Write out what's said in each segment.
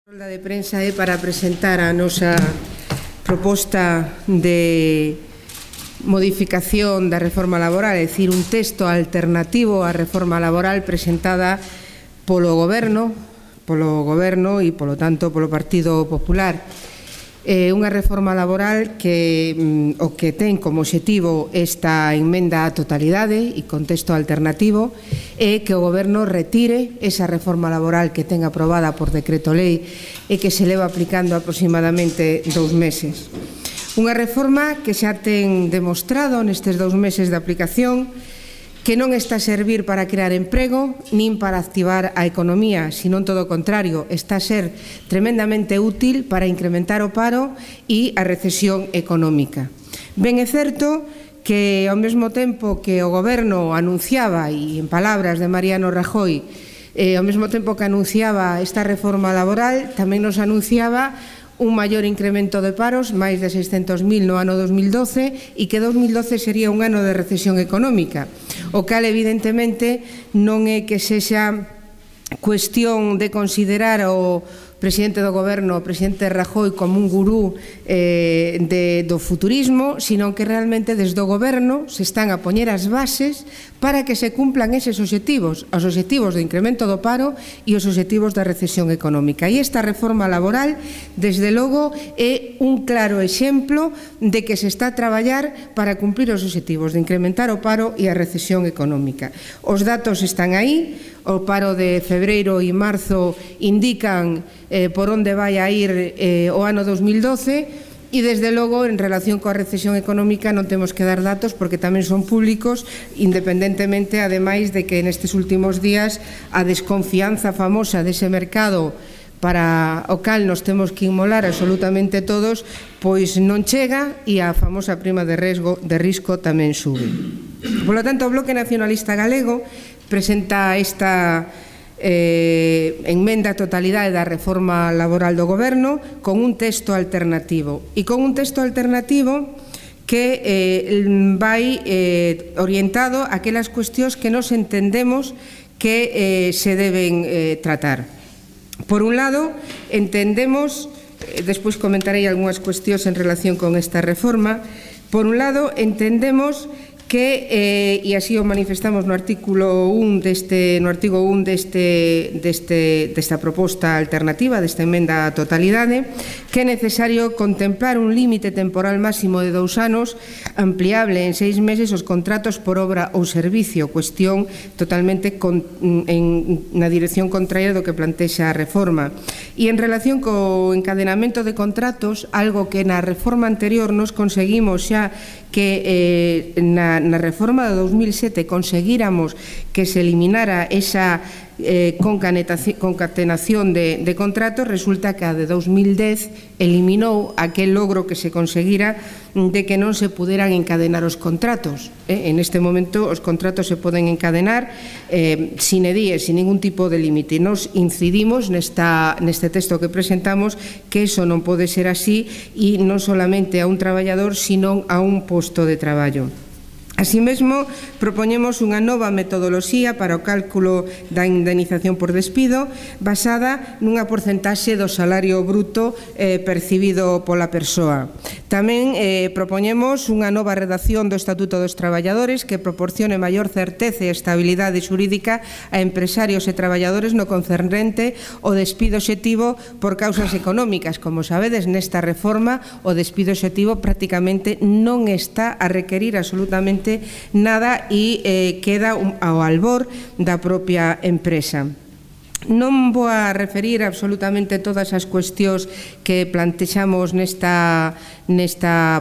A rolda de prensa é para presentar a nosa proposta de modificación da reforma laboral, é dicir, un texto alternativo á reforma laboral presentada polo Goberno e, polo tanto, polo Partido Popular. Unha reforma laboral que o que ten como obxectivo esta emenda á totalidade e con texto alternativo é que o Goberno retire esa reforma laboral que ten aprobada por decreto lei e que se leva aplicando aproximadamente 2 meses. Unha reforma que xa ten demostrado nestes 2 meses de aplicación que non está a servir para crear emprego nin para activar a economía, senón todo o contrario, está a ser tremendamente útil para incrementar o paro e a recesión económica. Ben é certo que ao mesmo tempo que o Goberno anunciaba, e en palabras de Mariano Rajoy, ao mesmo tempo que anunciaba esta reforma laboral, tamén nos anunciaba un maior incremento de paros, máis de 600.000 no ano 2012, e que 2012 sería un ano de recesión económica, o cal evidentemente non é que sexa cuestión de considerar o presidente do Goberno, o presidente Rajoy, como un gurú do futurismo, sino que realmente desde o Goberno se están a poñer as bases para que se cumplan eses obxectivos, os obxectivos do incremento do paro e os obxectivos da recesión económica. E esta reforma laboral, desde logo, é un claro exemplo de que se está a traballar para cumplir os obxectivos de incrementar o paro e a recesión económica. Os datos están aí, o paro de febreiro e marzo indican por onde vai a ir o ano 2012 e, desde logo, en relación coa recesión económica non temos que dar datos porque tamén son públicos, independentemente, ademais, de que nestes últimos días a desconfianza famosa dese mercado para o cal nos temos que inmolar absolutamente todos, pois non chega e a famosa prima de risco tamén sube. Polo tanto, o Bloque Nacionalista Galego presenta esta emenda á totalidade da reforma laboral do Goberno con un texto alternativo e con un texto alternativo que vai orientado a aquelas cuestións que nos entendemos que se deben tratar. Por un lado, entendemos, despois comentarei algunhas cuestións en relación con esta reforma, por un lado, entendemos que, e así o manifestamos no artigo 1 desta proposta alternativa, desta emenda á totalidade, que é necesario contemplar un límite temporal máximo de 2 anos, ampliable en 6 meses os contratos por obra ou servicio, cuestión totalmente na dirección contraria do que plantexa a reforma. E en relación co encadenamento de contratos, algo que na reforma anterior nos conseguimos xa que na reforma de 2007 conseguíramos que se eliminara esa concatenación de contratos, resulta que a de 2010 eliminou aquel logro que se conseguira de que non se puderan encadenar os contratos. En este momento os contratos se poden encadenar sine die, sin ningún tipo de límite. Nos incidimos neste texto que presentamos que iso non pode ser así e non solamente a un traballador, sino a un posto de traballo. Así mesmo, propoñemos unha nova metodoloxía para o cálculo da indemnización por despido basada nunha porcentaxe do salario bruto percibido pola persoa. Tamén propoñemos unha nova redacción do Estatuto dos Traballadores que proporcione maior certeza e estabilidade xurídica a empresarios e traballadores no concernente ao despido obxectivo por causas económicas. Como sabedes, nesta reforma o despido obxectivo prácticamente non está a requerir absolutamente nada e queda ao albor da propia empresa. Non vou a referir absolutamente todas as cuestións que plantexamos nesta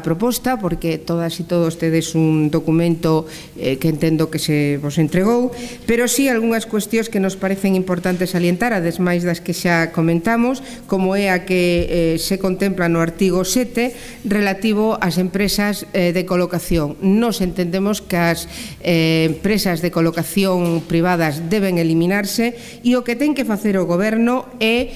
proposta, porque todas e todos tedes un documento que entendo que se vos entregou, pero sí algunhas cuestións que nos parecen importantes salientar, ademais das que xa comentamos, como é a que se contempla no artigo 7 relativo ás empresas de colocación. Nos entendemos que as empresas de colocación privadas deben eliminarse e o que ten ten que facer o Goberno é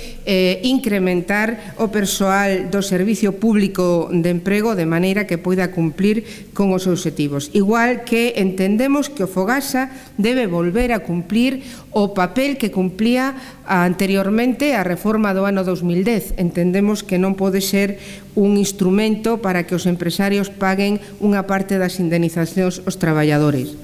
incrementar o persoal do Servicio Público de Emprego de maneira que poida cumplir con os obxectivos. Igual que entendemos que o Fogasa debe volver a cumplir o papel que cumplía anteriormente a reforma do ano 2010. Entendemos que non pode ser un instrumento para que os empresarios paguen unha parte das indemnizacións aos traballadores.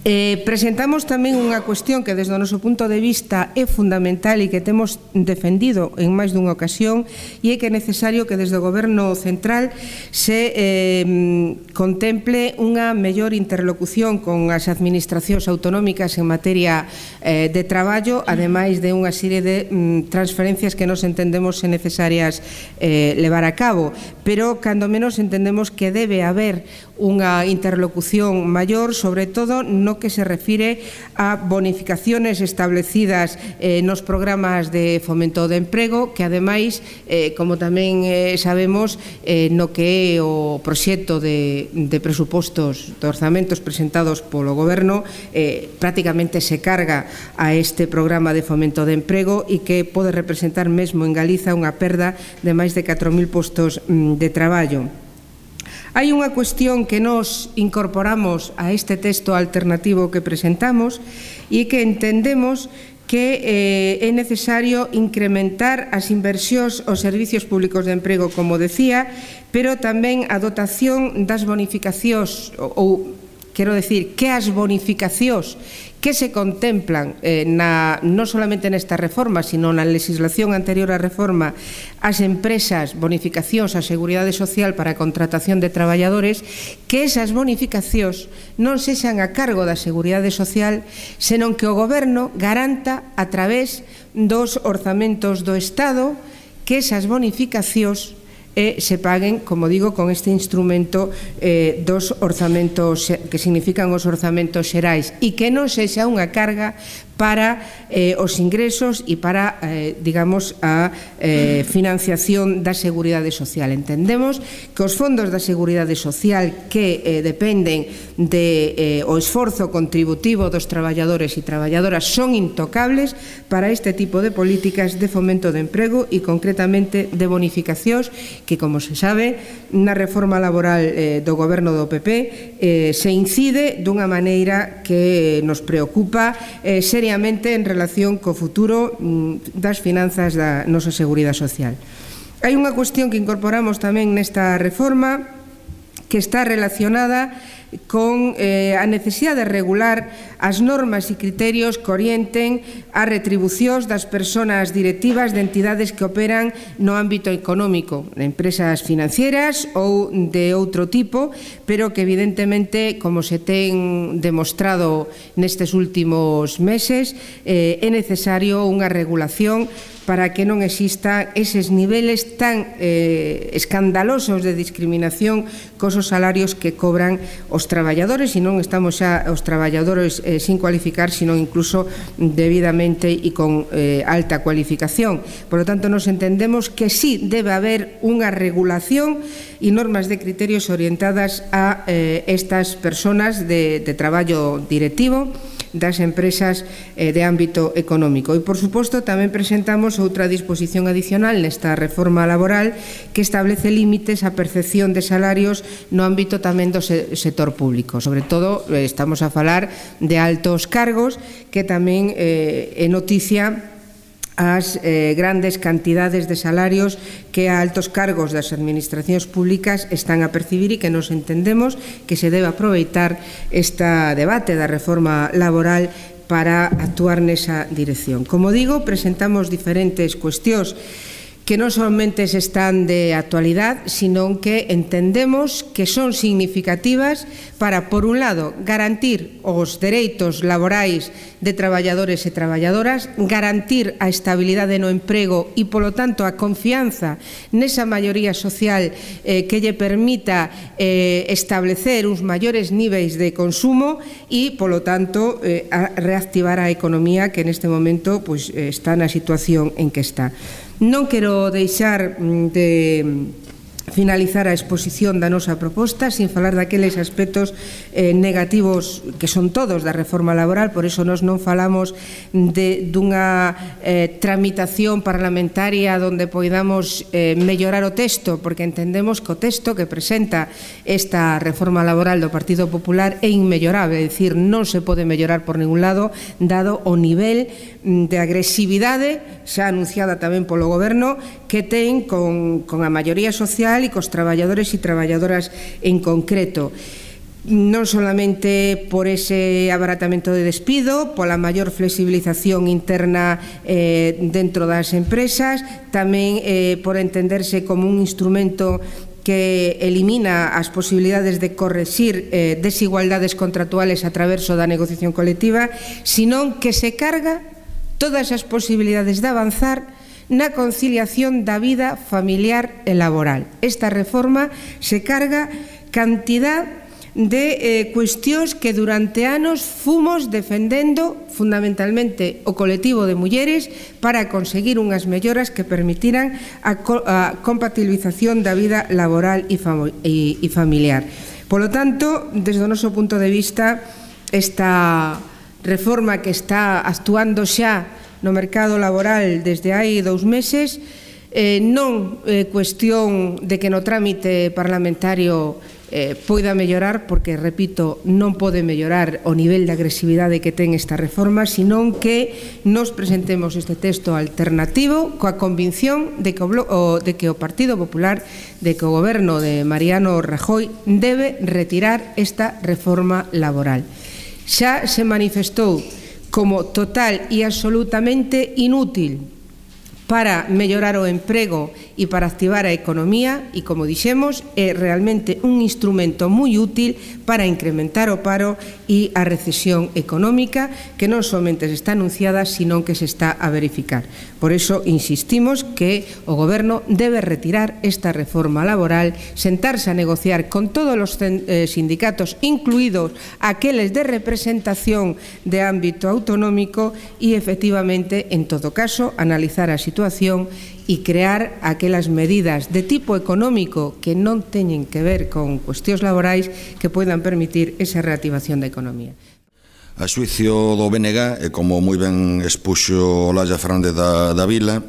Presentamos tamén unha cuestión que desde o noso punto de vista é fundamental e que temos defendido en máis dunha ocasión, e é que é necesario que desde o Goberno central se contemple unha mellor interlocución con as administracións autonómicas en materia de traballo, ademais de unha serie de transferencias que nos entendemos necesarias levar a cabo, pero cando menos entendemos que debe haber unha interlocución maior, sobre todo no que se refire a bonificaciones establecidas nos programas de fomento de emprego, que ademais, como tamén sabemos, no que é o proxecto de presupostos de orzamentos presentados polo Goberno, prácticamente se carga a este programa de fomento de emprego e que pode representar mesmo en Galiza unha perda de máis de 4.000 postos de traballo. Hai unha cuestión que nos incorporamos a este texto alternativo que presentamos e que entendemos que é necesario incrementar as inversións aos servicios públicos de emprego, como decía, pero tamén a dotación das bonificacións, ou quero decir, que as bonificacións que se contemplan non solamente nesta reforma, sino na legislación anterior á reforma, as empresas, bonificacións á Seguridade Social para a contratación de traballadores, que esas bonificacións non sexan a cargo da Seguridade Social, senón que o Goberno garanta a través dos orzamentos do Estado que esas bonificacións se paguen, como digo, con este instrumento dos orzamentos que significan os orzamentos xerais, e que non sexa unha carga para os ingresos e para, digamos, a financiación da Seguridade Social. Entendemos que os fondos da Seguridade Social que dependen do esforzo contributivo dos traballadores e traballadoras son intocables para este tipo de políticas de fomento de emprego e concretamente de bonificacións que, como se sabe, na reforma laboral do Goberno do PP se incide dunha maneira que nos preocupa seriamente en relación co futuro das finanzas da nosa Seguridade Social. Hai unha cuestión que incorporamos tamén nesta reforma que está relacionada con a necesidade de regular as normas e criterios que orienten as retribucións das persoas directivas de entidades que operan no ámbito económico, de empresas financieras ou de outro tipo, pero que evidentemente, como se ten demostrado nestes últimos meses, é necesario unha regulación para que non existan eses niveles tan escandalosos de discriminación cos os salarios que cobran os traballadores, e non estamos xa os traballadores sin cualificar, sino incluso debidamente e con alta cualificación. Por lo tanto, nos entendemos que sí debe haber unha regulación e normas de criterios orientadas a estas persoas de traballo directivo das empresas de ámbito económico. E, por suposto, tamén presentamos outra disposición adicional nesta reforma laboral que establece límites á percepción de salarios no ámbito tamén do sector público. Sobre todo, estamos a falar de altos cargos, que tamén é noticia as grandes cantidades de salarios que a altos cargos das administracións públicas están a percibir, e que nos entendemos que se debe aproveitar este debate da reforma laboral para actuar nesa dirección. Como digo, presentamos diferentes cuestións que non somente están de actualidade, sino que entendemos que son significativas para, por un lado, garantir os dereitos laborais de traballadores e traballadoras, garantir a estabilidade no emprego e, polo tanto, a confianza nesa maioría social que lle permita establecer uns maiores niveis de consumo e, polo tanto, reactivar a economía que neste momento está na situación en que está. Non quero deixar de finalizar a exposición da nosa proposta, sin falar daqueles aspectos negativos que son todos da reforma laboral. Por iso nós non falamos dunha tramitación parlamentaria onde poidamos mellorar o texto, porque entendemos que o texto que presenta esta reforma laboral do Partido Popular é inmellorable, é dicir, non se pode mellorar por ningún lado, dado o nivel de agresividade xa anunciada tamén polo Goberno que ten con a maioría social e cos traballadores e traballadoras en concreto, non solamente por ese abaratamento de despido, pola maior flexibilización interna dentro das empresas, tamén por entenderse como un instrumento que elimina as posibilidades de correxir desigualdades contractuales a través da negociación colectiva, senón que se carga todas as posibilidades de avanzar na conciliación da vida familiar e laboral. Esta reforma se carga cantidad de cuestións que durante anos fomos defendendo fundamentalmente o colectivo de mulleres para conseguir unhas melloras que permitiran a compatibilización da vida laboral e familiar. Polo tanto, desde o noso punto de vista, esta reforma que está actuando xa no mercado laboral desde hai 2 meses, non é cuestión de que no trámite parlamentario poida mellorar, porque, repito, non pode mellorar o nivel de agresividade que ten esta reforma, senón que nos presentemos este texto alternativo coa convicción de que o Partido Popular, de que o goberno de Mariano Rajoy debe retirar esta reforma laboral. Xa se manifestou como total e absolutamente inútil para mellorar o emprego e para activar a economía e, como dixemos, é realmente un instrumento moi útil para incrementar o paro e a recesión económica que non somente se está anunciada, senón que se está a verificar. Por iso insistimos que o Goberno debe retirar esta reforma laboral, sentarse a negociar con todos os sindicatos, incluídos aqueles de representación de ámbito autonómico e, efectivamente, en todo caso, analizar a situación e crear aquelas medidas de tipo económico que non teñen que ver con cuestións laborais que poidan permitir esa reactivación da economía. A xuicio do BNG, e como moi ben expuxo Olalla Fernández da Vila,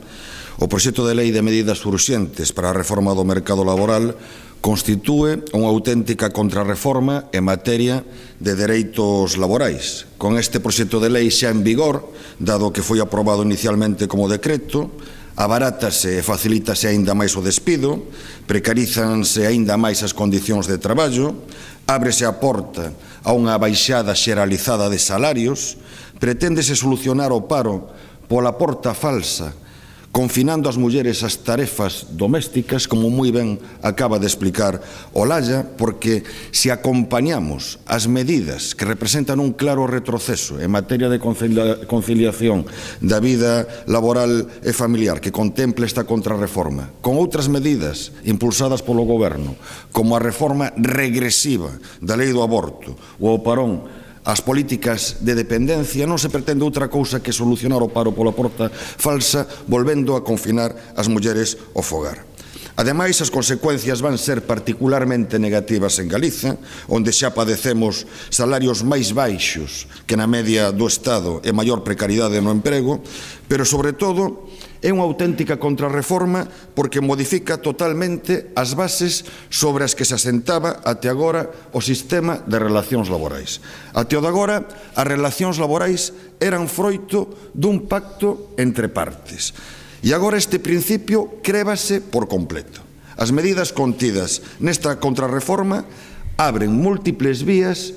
o proxecto de lei de medidas urxentes para a reforma do mercado laboral constitúe unha auténtica contrarreforma en materia de dereitos laborais. Con este proxecto de lei xa en vigor, dado que foi aprobado inicialmente como decreto, abarátase e facilítase aínda máis o despido, precarízanse aínda máis as condicións de traballo, ábrese a porta a unha baixada xeralizada de salarios, preténdese solucionar o paro pola porta falsa, confinando as mulleres ás tarefas domésticas, como moi ben acaba de explicar Olalla, porque se acompañamos as medidas que representan un claro retroceso en materia de conciliación da vida laboral e familiar que contempla esta contrarreforma, con outras medidas impulsadas polo Goberno, como a reforma regresiva da lei do aborto ou o parón as políticas de dependencia, non se pretende outra cousa que solucionar o paro pola porta falsa, volvendo a confinar as mulleres ao fogar. Ademais, as consecuencias van ser particularmente negativas en Galiza, onde xa padecemos salarios máis baixos que na media do Estado e maior precariedade no emprego, pero, sobre todo, é unha auténtica contrarreforma porque modifica totalmente as bases sobre as que se asentaba até agora o sistema de relacións laborais. Até o de agora, as relacións laborais eran froito dun pacto entre partes. E agora este principio crébase por completo. As medidas contidas nesta contrarreforma abren múltiples vías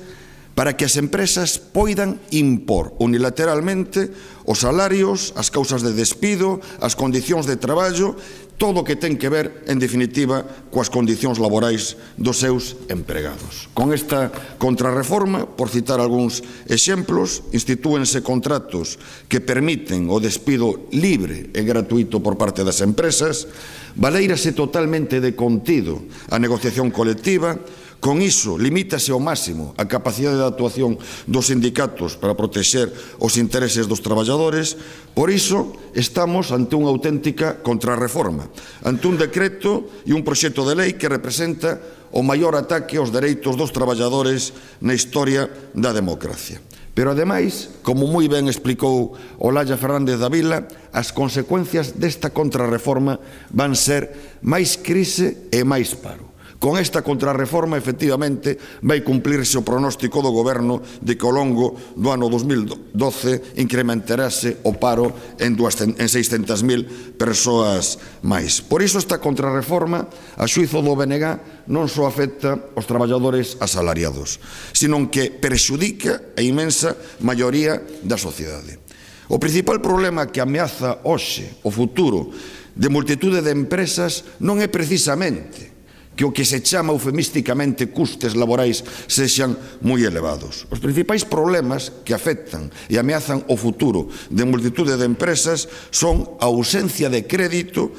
para que as empresas poidan impor unilateralmente os salarios, as causas de despido, as condicións de traballo, todo o que ten que ver, en definitiva, coas condicións laborais dos seus empregados. Con esta contrarreforma, por citar algúns exemplos, institúense contratos que permiten o despido libre e gratuito por parte das empresas, valeírase totalmente de contido a negociación colectiva, Con iso, limítase ao máximo a capacidade de actuación dos sindicatos para protexer os intereses dos traballadores. Por iso, estamos ante unha auténtica contrarreforma, ante un decreto e un proxecto de lei que representa o maior ataque aos dereitos dos traballadores na historia da democracia. Pero, ademais, como moi ben explicou Olalla Fernández da Vila, as consecuencias desta contrarreforma van ser máis crise e máis paro. Con esta contrarreforma, efectivamente, vai cumplirse o pronóstico do Goberno de que ao longo do ano 2012 incrementarase o paro en 600.000 persoas máis. Por iso esta contrarreforma, a xuízo do BNG, non só afecta aos traballadores asalariados, senón que perxudica a inmensa maioría da sociedade. O principal problema que ameaza hoxe o futuro de multitude de empresas non é precisamente que o que se chama eufemísticamente custes laborais sexan moi elevados. Os principais problemas que afectan e ameazan o futuro de multitude de empresas son a ausencia de crédito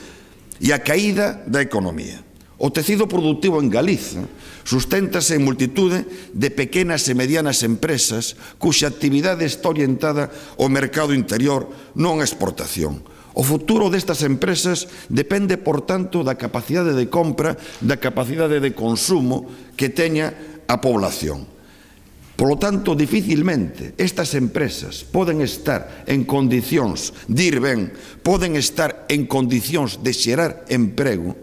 e a caída da economía. O tecido productivo en Galiza susténtase en multitude de pequenas e medianas empresas cuxa actividade está orientada ao mercado interior, non á exportación. O futuro destas empresas depende, por tanto, da capacidade de compra, da capacidade de consumo que teña a población. Polo tanto, dificilmente estas empresas poden estar en condicións de ir ben, poden estar en condicións de xerar emprego,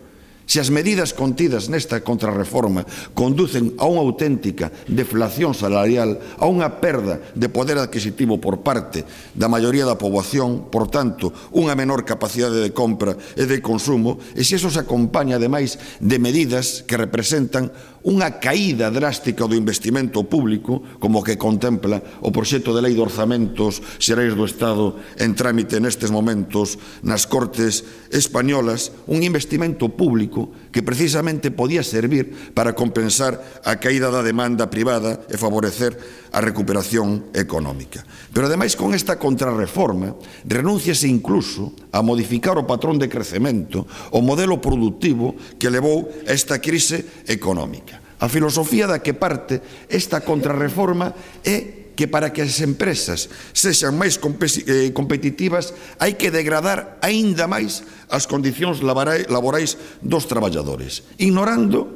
se as medidas contidas nesta contrarreforma conducen a unha auténtica deflación salarial, a unha perda de poder adquisitivo por parte da maioría da poboación, por tanto, unha menor capacidade de compra e de consumo, e se iso se acompaña, ademais, de medidas que representan unha caída drástica do investimento público, como que contempla o proxecto de lei de orzamentos xerais do Estado en trámite nestes momentos nas Cortes españolas, un investimento público que precisamente podía servir para compensar a caída da demanda privada e favorecer a recuperación económica. Pero, ademais, con esta contrarreforma, renúnciase incluso a modificar o patrón de crecemento, o modelo productivo que levou a esta crise económica. A filosofía da que parte esta contrarreforma é que para que as empresas sexan máis competitivas hai que degradar aínda máis as condicións laborais dos traballadores, ignorando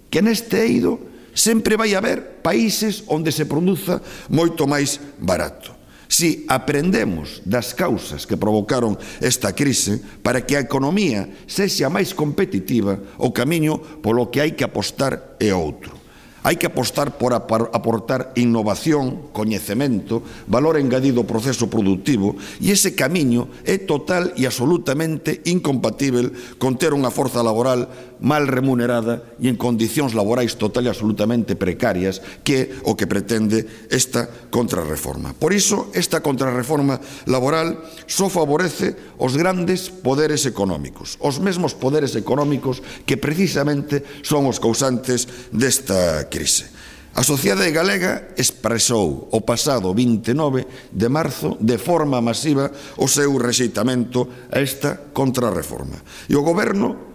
que neste eido sempre vai haber países onde se produza moito máis barato. Si aprendemos das causas que provocaron esta crise, para que a economía sexa máis competitiva, o camiño polo que hai que apostar é outro. Hai que apostar por aportar innovación, coñecemento, valor engadido ao proceso productivo, e ese camiño é total e absolutamente incompatível con ter unha forza laboral mal remunerada e en condicións laborais total e absolutamente precarias, que é o que pretende esta contrarreforma. Por iso, esta contrarreforma laboral só favorece os grandes poderes económicos, os mesmos poderes económicos que precisamente son os causantes desta crise. A sociedade galega expresou o pasado 29 de marzo de forma masiva o seu rexeitamento a esta contrarreforma. E o Goberno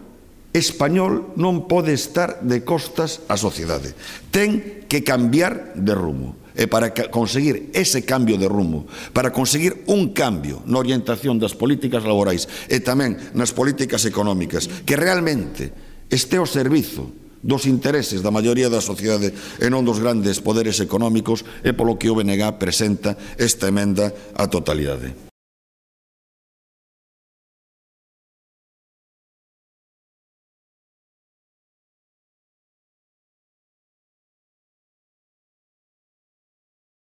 español non pode estar de costas á sociedade. Ten que cambiar de rumo. E para conseguir ese cambio de rumo, para conseguir un cambio na orientación das políticas laborais e tamén nas políticas económicas, que realmente este ao servizo dos intereses da maioría da sociedade e non dos grandes poderes económicos, é polo que o BNG presenta esta emenda á totalidade.